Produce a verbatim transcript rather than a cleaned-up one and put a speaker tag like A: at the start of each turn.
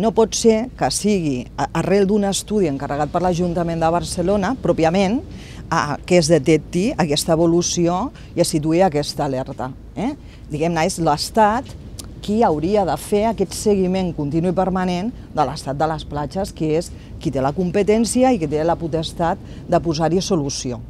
A: No pot ser que sigui arrel d'un estudi encarregat per l'Ajuntament de Barcelona, pròpiament, que es detecti aquesta evolució i es situï aquesta alerta. Diguem-ne, és l'Estat qui hauria de fer aquest seguiment continu i permanent de l'estat de les platges, que és qui té la competència i qui té la potestat de posar-hi solució.